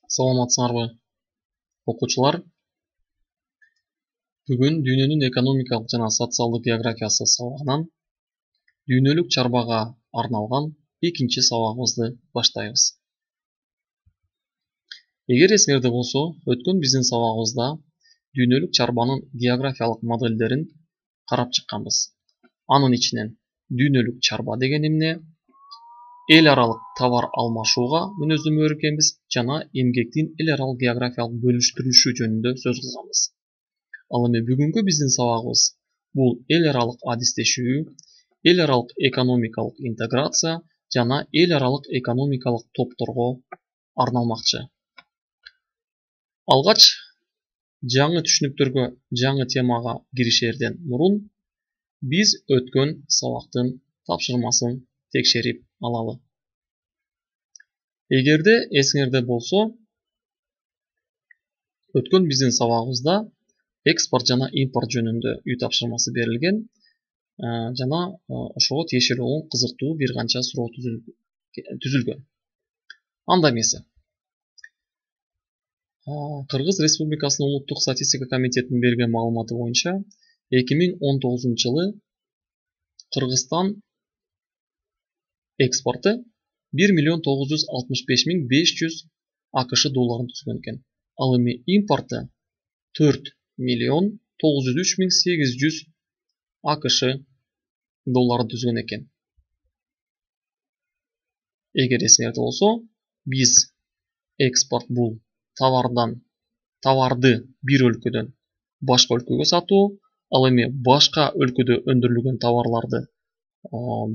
Саламатсыңарбы окуучулар? Бүгүн дүйнөнүн экономикалык жана социалдык географиясы сабагынан дүйнөлүк чарбага арналган экинчи сабагыбызды баштайбыз. Эгер эсиңерде болсо, өткөн биздин сабагыбызда дүйнөлүк чарбанын географиялык модельдерин карап чыкканбыз. Анын ичинен дүйнөлүк чарба деген эмне, эл аралык товар алмашууга мүнөздөмө өргөнбүз жана эмгектин эл аралык географиялык бөлүштүрүлүшү жөнүндө сөз кылганбыз. Ал эми бүгүнкү биздин сабагыбыз бул эл аралык адистешүү, эл аралык экономикалык интеграция жана эл аралык экономикалык топторго арналмакчы. Алгач жаңы түшүнүктөргө, жаңы темага киришерден мурун биз өткөн сабактын тапшырмасын текшерип алалы. Эгерде эсиңерде болсо, өткөн биздин сабагыбызда экспорт жана импорт жөнүндө үй тапшырмасы берилген жана ошого тиешелүү болгон кызыктуу бир канча суроо түзүлгөн. Анда эмесе, Кыргыз Республикасынын улуттук статистика комитетинин берген маалыматы боюнча 2019-жылы Кыргызстан экспорту 1.965.500 АКШ долларын түзгөн экен. Ал эми импорты 4.903.800 АКШ долларын түзгөн экен. Эгер эсиңерде болсо, биз экспорт бул товарды бир өлкөдөн башка өлкөгө сатуу, ал эми башка өлкөдө өндүрүлгөн товарларды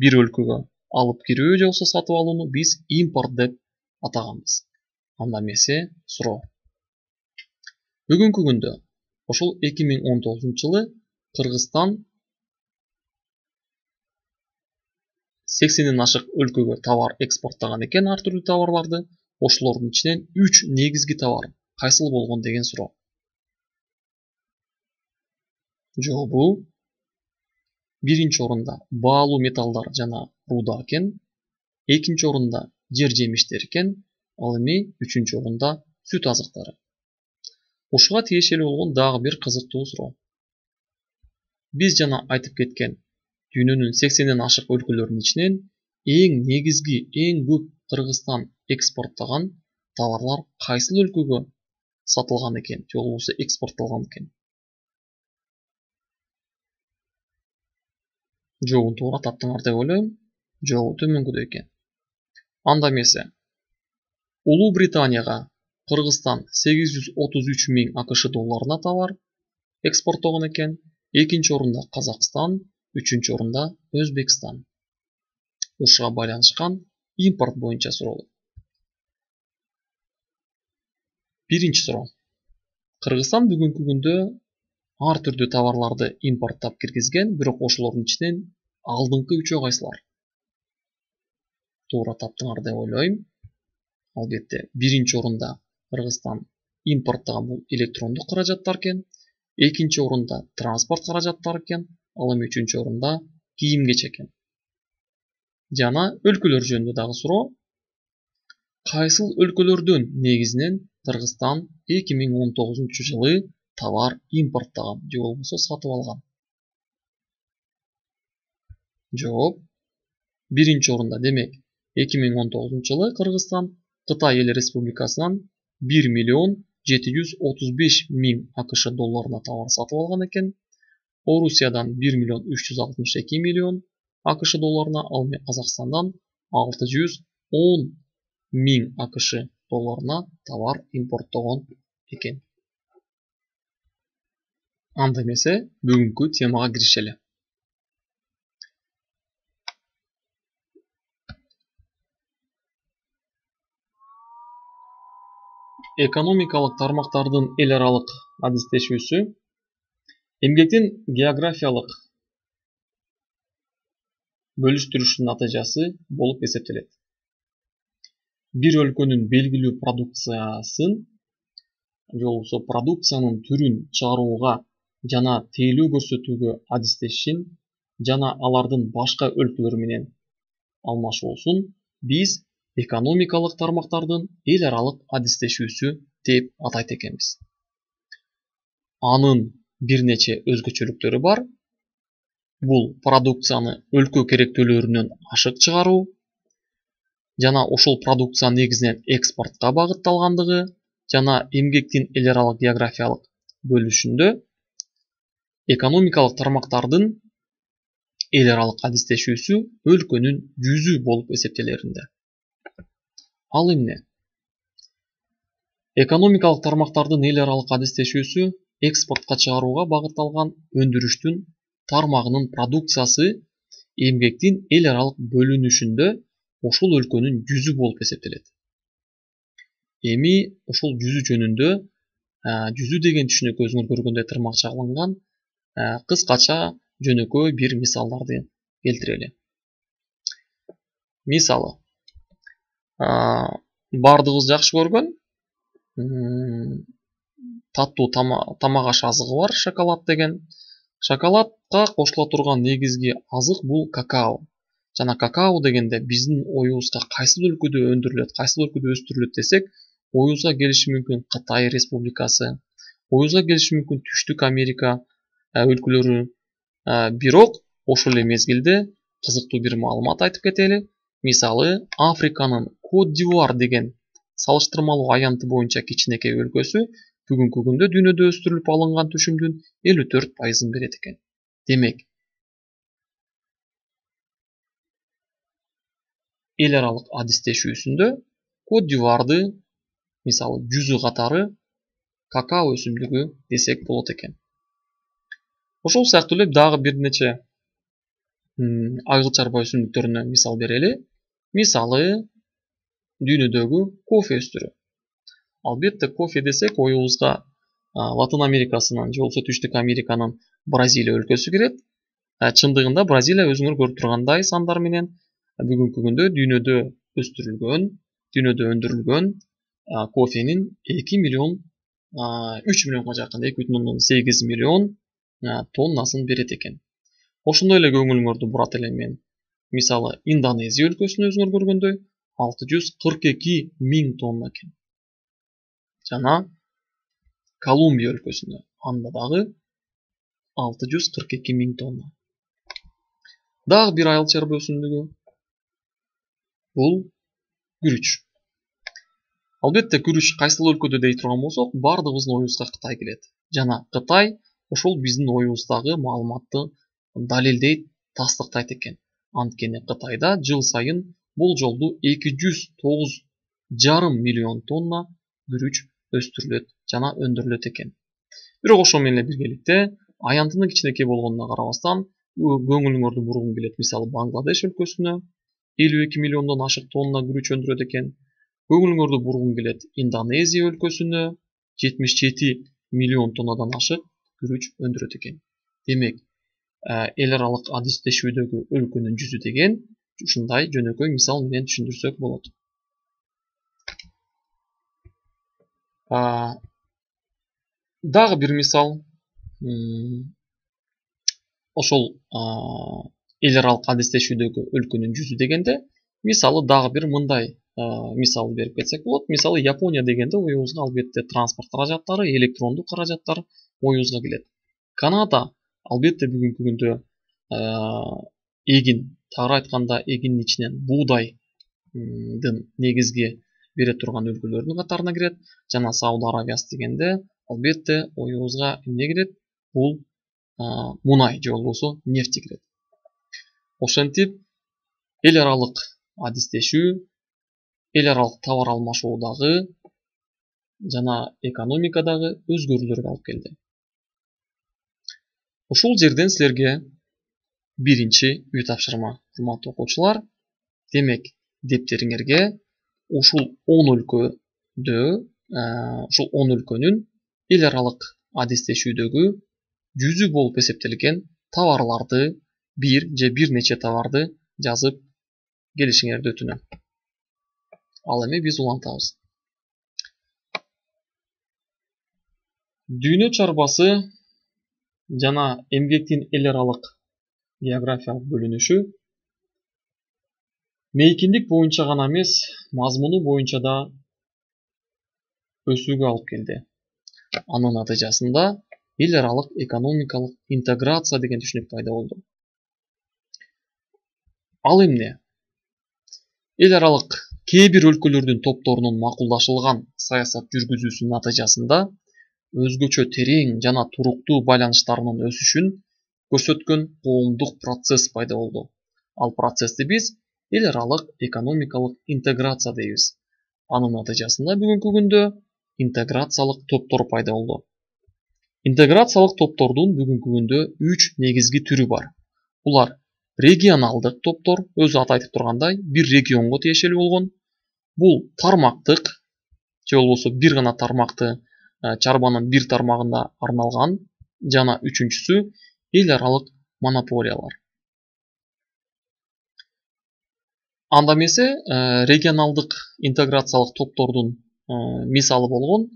бир өлкөгө алып кирүү же болбосо сатып алууну биз импорт деп атаганбыз. Анда эмесе суроо. Бүгүнкү күндө ошол 2019-жылы Кыргызстан 80ден ашык өлкөгө товар экспорттаган экен, ар түрдүү товарларды. Ошолордун ичинен 3 негизги товар кайсыл болгон деген суроо. Жообу биринчи орунда баалуу металлдар жана руда экен, экинчи орунда жер жемиштер экен, ал эми үчүнчү орунда сүт азыктары. Ушуга тиешелүү болгон дагы бир кызыктуу суроо. Биз жана айтып кеткен дүйнөнүн 80ден ашык өлкөлөрүнүн ичинен эң негизги, эң көп Кыргызстан экспорттогон товарлар кайсыл өлкөгө сатылган экен, же болбосо экспорттолгон экен? Жообун туура таптыңар деп ойлойм. Жообу төмөнкүдөй экен. Анда эмесе, Улуу Британияга Кыргызстан 833.000 АКШ долларына товар экспорттогон экен, экинчи орунда Казакстан, үчүнчү орунда Өзбекстан. Ушуга байланышкан импорт боюнча суроо. Биринчи суроо. Кыргызстан бүгүнкү күндө ар түрдүү товарларды импорттоп киргизген, бирок ошолордун ичинен алдыңкы үчөө кайсылар? Туура таптыңар деп ойлойм. Албетте, биринчи орунда Кыргызстан импорттогон бул электрондук каражаттар экен, экинчи орунда транспорт каражаттары экен, ал эми үчүнчү орунда кийим-кечек экен. Жана өлкөлөр жөнүндө дагы суроо. Кайсыл өлкөлөрдөн негизинен Кыргызстан 2019-жылы товар импорттогон же болбосо сатып алган? Жооп биринчи орунда, демек 2019-жылы Кыргызстан Кытай эл республикасынан 1.735.000 АКШ долларына товар сатып алган экен. Орусиядан 1.362.000.000 АКШ долларына, ал эми Казакстандан 610.000 АКШ долларына товар импорттогон экен. Анда эмесе бүгүнкү темага киришели. Экономикалык тармактардын эл аралык адистешүүсү эмгектин географиялык бөлүштүрүшүнүн натыйжасы болуп эсептелет. Бир өлкөнүн белгилүү продукциясын же болбосо продукциянын түрүн чыгарууга жана тейлөө көрсөтүүгө адистешин жана алардын башка өлкөлөр менен алмашуусун биз экономикалык тармактардын эл аралык адистешүүсү деп атайт экенбиз. Анын бир нече өзгөчөлүктөрү бар. Бул продукцияны өлкө керектүүлөрүнөн ашык чыгаруу жана ошол продукция негизинен экспортко багытталгандыгы жана эмгектин эл аралык географиялык бөлүшүндө экономикалык тармактардын эл аралык адистешүүсү өлкөнүн жүзү болуп эсептелеринде. Ал эмне? Экономикалык тармактардын эл аралык адистешүүсү экспортко чыгарууга багытталган өндүрүштүн тармагынын продукциясы эмгектин эл аралык бөлүнүшүндө ошол өлкөнүн жүзү болуп эсептелет. Эми ошол жүзү жөнүндө жүзү деген түшүнүк өзүңөр көргөндөй тырмакча алынган кыскача жөнөкөй бир мисалдарды келтирели. Мисалы, бардыгыбыз жакшы көргөн таттуу тамак аш азыгы бар, шоколад деген. Шоколадка кошула турган негизги азык бул какао. Жана какао дегенде биздин оюбузга кайсыл өлкөдө өндүрүлөт, кайсыл өлкөдө өстүрүлөт десек, оюбузга келиши мүмкүн Кытай Республикасы, оюбузга келиши мүмкүн Түштүк Америка өлкөлөрү. Бирок ошол эле мезгилде кызыктуу бир маалымат айтып кетели. Мисалы, Африканын Кот-д'Ивуар деген салыштырмалуу аянты боюнча кичинекей өлкөсү бүгүнкү күндө дүйнөдө өстүрүлүп алынган түшүмдүн 54% берет экен. Демек, эл аралык адистешүүсүндө Кот-д'Ивуарды мисалы жүзү катары какао өсүмдүгү десек болот экен. Ошол сыяктуу эле дагы бир нече айгыл чарба өсүмдүктөрүнө мисал берели. Мисалы, дүйнөдөгү кофе өстүрүү. Албетте, кофе десек оюбузга Латын Америкасынын же болбосо Түштүк Американын Бразилия өлкөсү кирет. Чындыгында Бразилия өзүңөр көрүп тургандай сандар менен бүгүнкү күндө дүйнөдө өндүрүлгөн кофенин 3 миллионго жакын, 2,8 миллион тоннасын берет экен. Ошондой эле көңүлүңөрдү бурат элем мен. Мисалы, Индонезия өлкөсүнө өзүңөр көргөндөй 642 миң тонна экен. Жана Колумбия өлкөсүндө анда дагы 642 миң тонна. Дагы бир айыл чарба өсүмдүгү бул күрүч. Албетте, күрүч кайсыл өлкөдө дей турган болсок, бардыгыбыздын оюбузга Кытай келет. Жана Кытай ошол биздин оюбуздагы маалыматты далилдейт, тастыктайт экен. Анткени Кытайда жыл сайын болжолдуу 209,5 миллион тонна күрүч өстүрүлөт жана өндүрүлөт экен. Бирок ошол менен биргеликте аянтынын кичинекей болгонуна карабастан көңүлүңөрдү бургум келет. Мисалы, Бангладеш өлкөсүнө 52 миллиондон ашык тонна күрүч өндүрөт экен. Көңүлүңөрдү бургум келет Индонезия өлкөсүнө 77 миллион тоннадан ашык күрүч өндүрөт экен. Демек, эл аралык адистешүүдөгү өлкөнүн жүзү деген ушундай жөнөкөй мисал менен түшүндүрсөк болот. Дагы бир мисал, ошол эл аралык адистешүүдөгү өлкөнүн жүзү дегенде, мисалы дагы бир мындай мисал берип кетсек болот. Мисалы, Япония дегенде оюбузга албетте транспорт каражаттары, электрондук каражаттар оюбузга келет. Канада албетте бүгүнкү күндө эгин, тагыраак айтканда эгиндин ичинен буудайдын негизги бере турган өлкөлөрдүн катарына кирет. Жана Сауд Арабиясы дегенде албетте оюбузга эмне кирет? Бул мунай же болбосо нефти кирет. Ошентип, эл аралык адистешүү, эл аралык товар алмашуудагы жана экономикадагы өзгөрүүлөргө алып келди. Ушул жерден силерге биринчи үй тапшырма, урматтуу окуучулар. Демек, дептериңерге ушул 10 өлкөнүн эл аралык адистешүүдөгү жүзү болуп эсептелген товарларды, бир же бир нече товарды жазып келишиңерди өтүнөм. Ал эми биз улантабыз. Дүйнө чарбасы жана эмгектин эл аралык географиялык бөлүнүшү мейкиндик боюнча гана эмес, мазмуну боюнча да өсүүгө алып келди. Анын натыйжасында эл аралык экономикалык интеграция деген түшүнүк пайда болду. Ал эмне? Эл аралык кээ бир өлкөлөрдүн топторунун макулдашылган саясат жүргүзүүсүнүн натыйжасында өзгөчө терең жана туруктуу байланыштарынын өсүшүн көрсөткөн коомдук процесс пайда болду. Ал процессти биз эл аралык экономикалык интеграция дейбиз. Анын натыйжасында бүгүнкү күндө интеграциялык топтор пайда болду. Интеграциялык топтордун бүгүнкү күндө 3 негизги түрү бар. Булар регионалдык топтор, өзү аты айтып тургандай, бир регионго тиешелүү болгон. Бул тармактык, же болбосо бир гана тармакты, чарбанын бир тармагына арналган, жана үчүнчүсү эл аралык монополиялар. Анда эмесе регионалдык интеграциялык топтордун мисалы болгон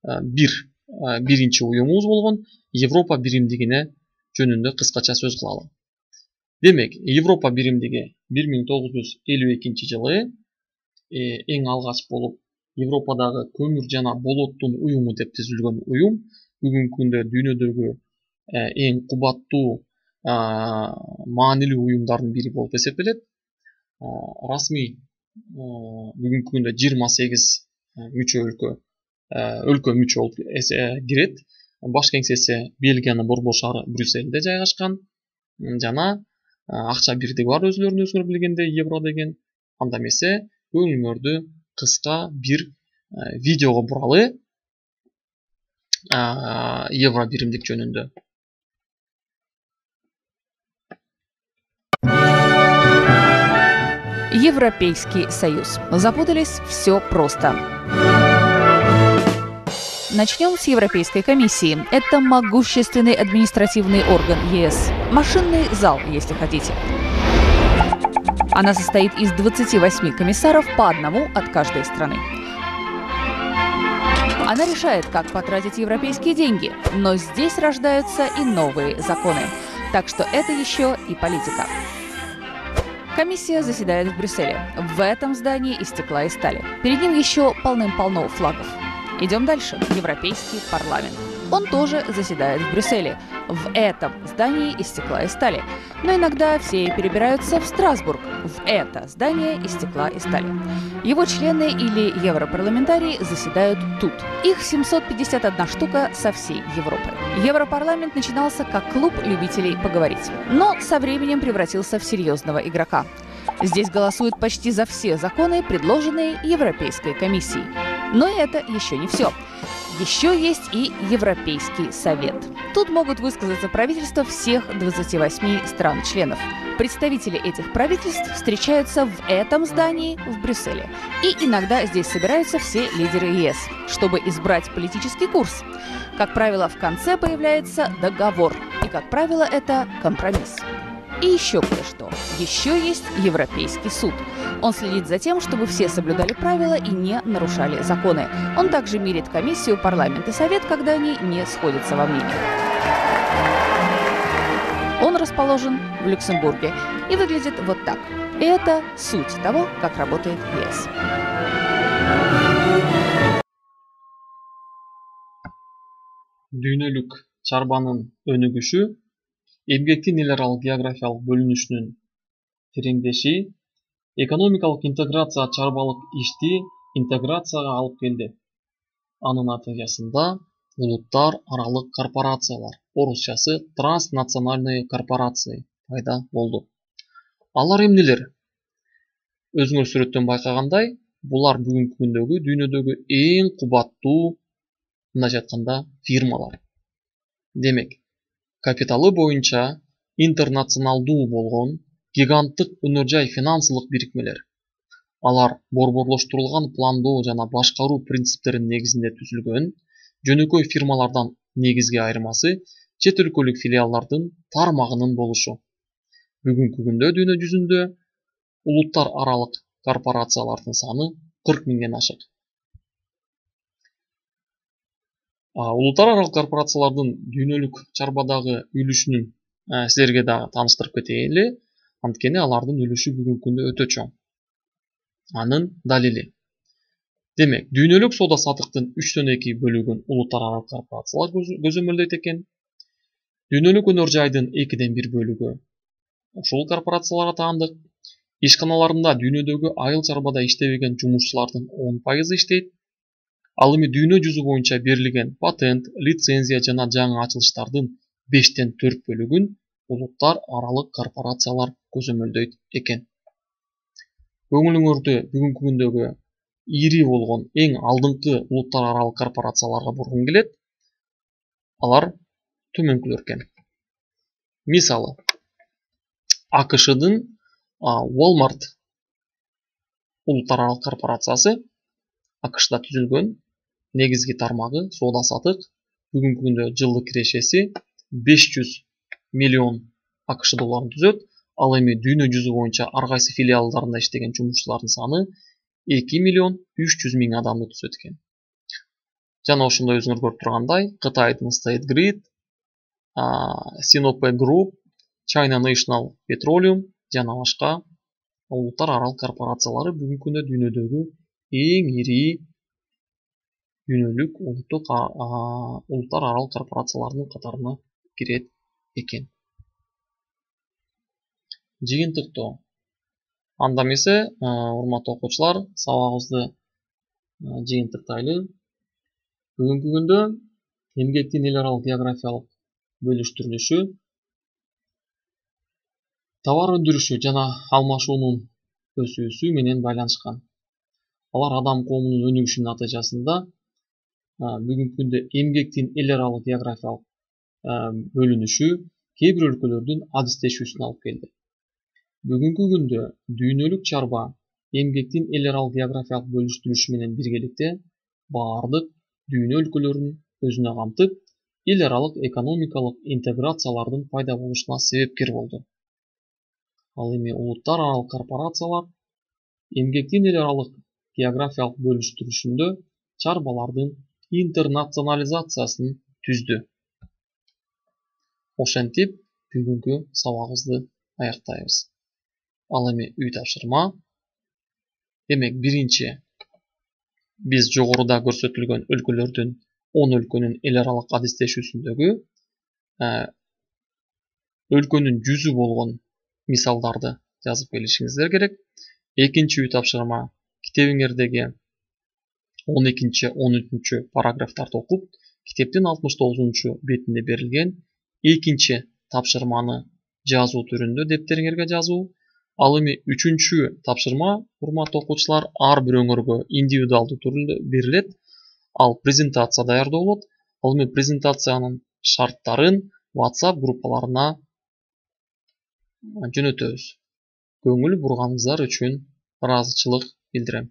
биринчи уюмубуз болгон Европа биримдигине жөнүндө кыскача сөз кылалы. Демек, Европа биримдиги 1952 жылы эң алгач болуп Европадагы көмүр жана болоттун уюму деп түзүлгөн уюм бүгүнкү күндө дүйнөдөгү эң кубаттуу маанилүү уюмдардын бири болуп эсептелет. Расмий бүгүнкү күндө 28 мүчө өлкө мүчө болуп кирет. Баш кеңсеси Бельгиянын борбор шаары Брюссельде жайгашкан жана акча бирдиги бар өзүлөрүн билгенде евро деген. Анда эмесе көңүлүңөрдү кыска бир видеого буралы евро биримдик жөнүндө. Европейский Союз. Запутались? Все просто. Начнем с Европейской комиссии. Это могущественный административный орган ЕС. Машинный зал, если хотите. Она состоит из 28 комиссаров, по одному от каждой страны. Она решает, как потратить европейские деньги, но здесь рождаются и новые законы. Так что это еще и политика. Комиссия заседает в Брюсселе. В этом здании из стекла и стали. Перед ним еще полным-полно флагов. Идем дальше. Европейский парламент. Он тоже заседает в Брюсселе. В этом здании из стекла и стали. Но иногда все перебираются в Страсбург. В это здание из стекла и стали. Его члены или европарламентарии заседают тут. Их 751 штука со всей Европы. Европарламент начинался как клуб любителей поговорить, но со временем превратился в серьезного игрока. Здесь голосуют почти за все законы, предложенные Европейской комиссией. Но это еще не все. Еще есть и Европейский совет. Тут могут высказаться правительства всех 28 стран-членов. Представители этих правительств встречаются в этом здании в Брюсселе. И иногда здесь собираются все лидеры ЕС, чтобы избрать политический курс. Как правило, в конце появляется договор. И, как правило, это компромисс. И еще кое-что. Еще есть Европейский суд. Он следит за тем, чтобы все соблюдали правила и не нарушали законы. Он также мирит комиссию, парламент и совет, когда они не сходятся во мнении. Он расположен в Люксембурге и выглядит вот так. И это суть того, как работает ЕС. Дүйнөлүк чарбанын өнүгүшү эмгектин эл аралык географиялык бөлүнүшүнүн тереңдеши, экономикалык интеграция чарбалык ишти интеграцияга алып келди. Анын натыйжасында улуттар аралык корпорациялар, орусчасы транснациональные корпорации пайда болду. Алар эмнелер? Өзүңөр сүрөттөн байкагандай, булар бүгүнкү күндөгү дүйнөдөгү эң кубаттуу, мындайча айтканда, фирмалар. Демек, капиталы боюнча интернационалдуу болгон гиганттык өнөр жай финансылык бирикмелер. Алар борборлоштурулган пландоо жана башкаруу принциптеринин негизинде түзүлгөн. Жөнөкөй фирмалардан негизги айырмасы чет өлкөлүк филиалдардын тармагынын болушу. Бүгүнкү күндө дүйнө жүзүндө улуттар аралык корпорациялардын саны 40 миңден ашык. Улуттар аралык корпорациялардын дүйнөлүк чарбадагы үлүшүнүн силерге дагы тааныштырып кетели, анткени алардын үлүшү бүгүнкү күндө өтө чоң. Анын далили. Демек, дүйнөлүк соода саттыктын 3/2 бөлүгүн улуттар аралык корпорациялар көзөмөлдөйт экен. Дүйнөлүк өнөр жайдын 2/1 бөлүгү ушул корпорацияларга таандык. Ишканаларында дүйнөдөгү айыл чарбада иштебеген жумушчулардын 10% иштейт. Ал эми дүйнө жүзү боюнча берилген патент, лицензия жана жаңы ачылыштардын 5/4 бөлүгүн улуттар аралык корпорациялар көзөмөлдөйт экен. Көңүлүңөрдү бүгүнкү күндөгү ири болгон эң алдыңкы улуттар аралык корпорацияларга бургум келет. Алар төмөнкүлөр экен. Мисалы, АКШдын Walmart улуттар аралык корпорациясы АКШда түзүлгөн, негизги тармагы соода сатык, бүгүнкү күндө жылдык кирешеси 500 миллион АКШ долларын түзөт. Ал эми дүйнө жүзү боюнча ар кайсы филиалдарында иштеген жумушчулардын саны 2 миллион 300 миң адамды түзөт экен. Жана ошондой өзүңөр көрүп тургандай, Кытайдын State Grid, Sinopec Group, China National Petroleum жана башка улуттар аралык корпорациялары бүгүнкү күндө дүйнөдөгү эң ири дүйнөлүк улуттар аралык корпорациялардын катарына кирет экен. Жыйынтыктоо. Анда эмесе, урматтуу окуучулар, сабагыбызды жыйынтыктайлы. Бүгүнкү күндө эмгектин эл аралык географиялык бөлүштүрүлүшү товар өндүрүшү жана алмашуунун өсүүсү менен байланышкан. Алар адам коомунун өнүгүшүнүн натыйжасында бүгүнкү күндө эмгектин эл аралык географиялык бөлүнүшү кээ бир өлкөлөрдүн адистешүүсүнө алып келди. Бүгүнкү күндө дүйнөлүк чарба эмгектин эл аралык географиялык бөлүштүрүшү менен биргеликте баардык дүйнө өлкөлөрүн өзүнө камтып, эл аралык экономикалык интеграциялардын пайда болушуна себепкер болду. Ал эми улуттар аралык корпорациялар эмгектин эл аралык географиялык бөлүштүрүшүндө чарбалардын интернационализациясын түздү. Ошентип, бүгүнкү сабагыбызды аяктайбыз. Ал эми үй тапшырма. Демек, биринчи, биз жогоруда көрсөтүлгөн өлкөлөрдүн 10 өлкөнүн эл аралык адистешүүсүндөгү өлкөнүн жүзү болгон мисалдарды жазып келишиңиздер керек. Экинчи үй тапшырма, китебиңердеги 12-13 параграфтарды окуп, китептин 69 бетинде берилген экинчи тапшырманы жазуу түрүндө дептериңерге жазуу. Ал эми үчүнчү тапшырма, урматтуу окуучулар, ар бир өңөргө индивидуалдуу түрдө берилет. Ал презентация даярдоо болот. Ал эми презентациянын шарттарын WhatsApp группаларына жөнөтөбүз. Көңүл бурганыңыздар үчүн ыраазычылык билдирем.